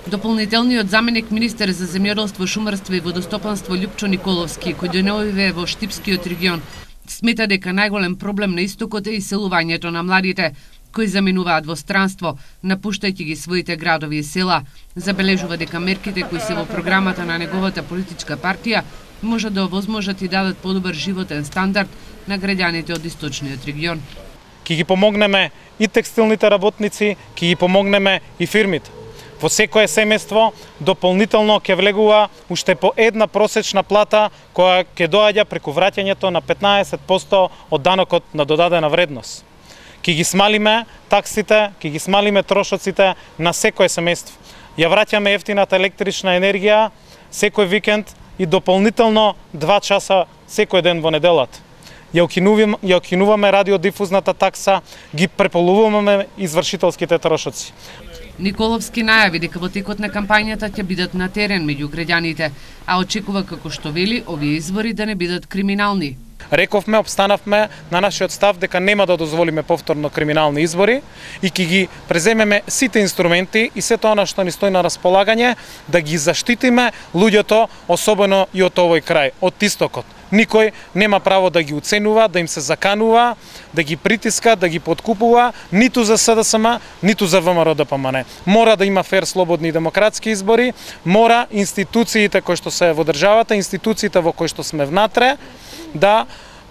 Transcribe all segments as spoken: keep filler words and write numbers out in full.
Дополнителниот заменик министер за земјоделство, шумарство и водостопанство Љупчо Николовски, кој дојдове во Штипскиот регион, смета дека најголем проблем на истокот е иселувањето на младите, кои заминуваат во странство, напуштајќи ги своите градови и села. Забележува дека мерките кои се во програмата на неговата политичка партија можат да овозможат и дадат подобар животен стандард на граѓаните од источниот регион. Ки ги помогнеме и текстилните работници, ки ги помогнеме и фирмите. Во секое семејство дополнително ќе влегува уште по една просечна плата која ќе доаѓа преку враќањето на петнаесет проценти од данокот на додадена вредност. Ки ги смалиме таксите, ки ги смалиме трошоците на секое семејство. Ја враќаме ефтината електрична енергија секој викенд и дополнително два часа секој ден во неделата. Ја укинуваме, ја укинуваме радиодифузната такса, ги преполуваме извршителските трошоци. Николовски најави дека во текот на кампањата ќе бидат на терен меѓу граѓаните, а очекува како што вели овие избори да не бидат криминални. Рековме, обстанавме на нашиот став дека нема да дозволиме повторно криминални избори и ќе ги преземеме сите инструменти и сето она што ни стои на располагање да ги заштитиме луѓето, особено и од овој крај, од истокот. Никој нема право да ги уценува, да им се заканува, да ги притиска, да ги подкупува, ниту за СДСМ, ниту за ВМРО Д П М Н. Мора да има фер, слободни и демократски избори, мора институциите кои што се во државата, институциите во кои што сме внатре, да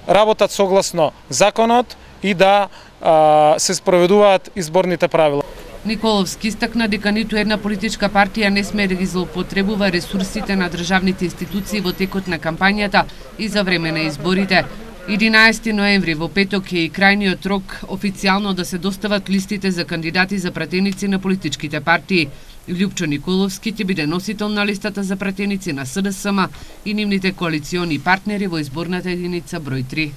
работат согласно законот и да а, се спроведуваат изборните правила. Николовски истакна дека ниту една политичка партија не смее да ги злоупотребува ресурсите на државните институции во текот на кампањата и за време на изборите. единаесети ноември во петок е и крајниот рок официјално да се достават листите за кандидати за пратеници на политичките партии. Љупчо Николовски ќе биде носител на листата за пратеници на СДСМ и нивните коалициони партнери во изборната единица број три.